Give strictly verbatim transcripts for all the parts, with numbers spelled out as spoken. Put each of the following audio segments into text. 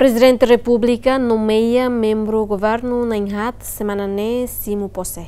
Prezidente Repúblika nomeia membru governu na'in-haat semana ne'e simu pose.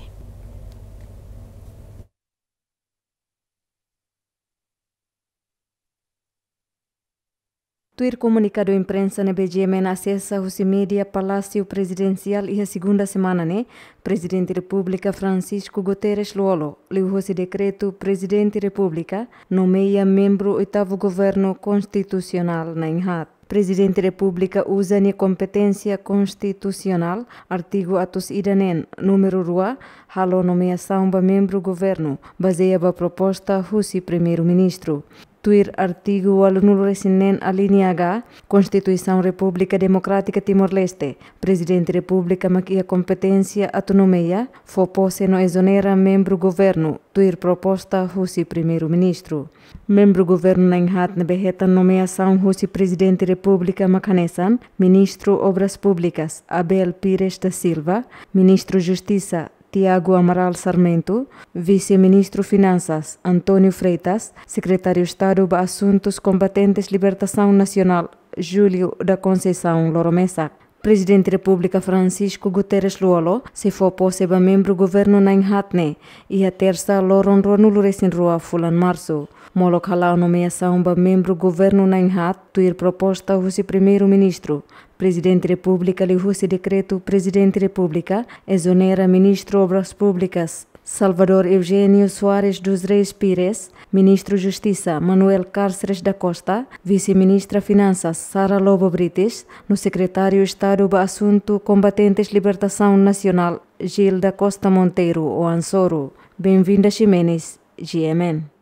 Tuir komunikadu imprensa ne'ebé GMN asesa husi mídia Palásiu Prezidensiál iha segunda semana ne'e, Prezidente Repúblika Francisco Guterres Lú-Olo, liuhosi dekretu Prezidente Repúblika, nomeia membru oitavu governu konstitusionál na'in-haat. Prezidente Repúblika uza nia kompeténsia konstitusionál, artigu atus ida neen, númeru rua, halo nomeasaun ba membru governu, bazeia ba proposta husi Primeiru-Ministru. Tuir artigu ualunulu-resin-neen alínea H, Konstituisaun Repúblika Demokrátika Timor-Leste, Prezidente Repúblika mak iha kompeténsia atu nomeia, fó pose no ezonera membru governu, tuir proposta husi Primeiru-Ministru. Membru governu na'in-haat ne'ebé hetan nomeasaun husi Prezidente Repúblika mak hanesan, Ministru Obras Públikas, Abel Pires da Silva, Ministru Justisa, Tiago Amaral Sarmento, Vise-Ministru Finansas, António Freitas, Sekretáriu Estadu ba Asuntus Kombatentes Libertasaun Nasionál, Júlio da Conceição Loromesak. Prezidente Repúblika Francisco Guterres Lú-Olo sei fó pose ba membru governu na'in-haat ne'e, iha tersa loron ruanulu-resin-rua fulan Marsu. Molok hala'o nomeasaun ba membru governu na'in-haat, tuir proposta husi Primeiru-Ministru, Prezidente Repúblika liuhosi dekretu Prezidente Repúblika ezonera Ministru Obras Públikas, Salvador Eugênio Soares dos Reis Pires, Ministru Justisa, Manuel Cárceres da Costa, Vise-Ministra Finansas, Sara Lobo Brites, no Sekretáriu Estadu ba Asuntu Kombatentes Libertasaun Nasionál, Gil da Costa Monteiro Oan Soro. Benvinda Ximenes, GMN.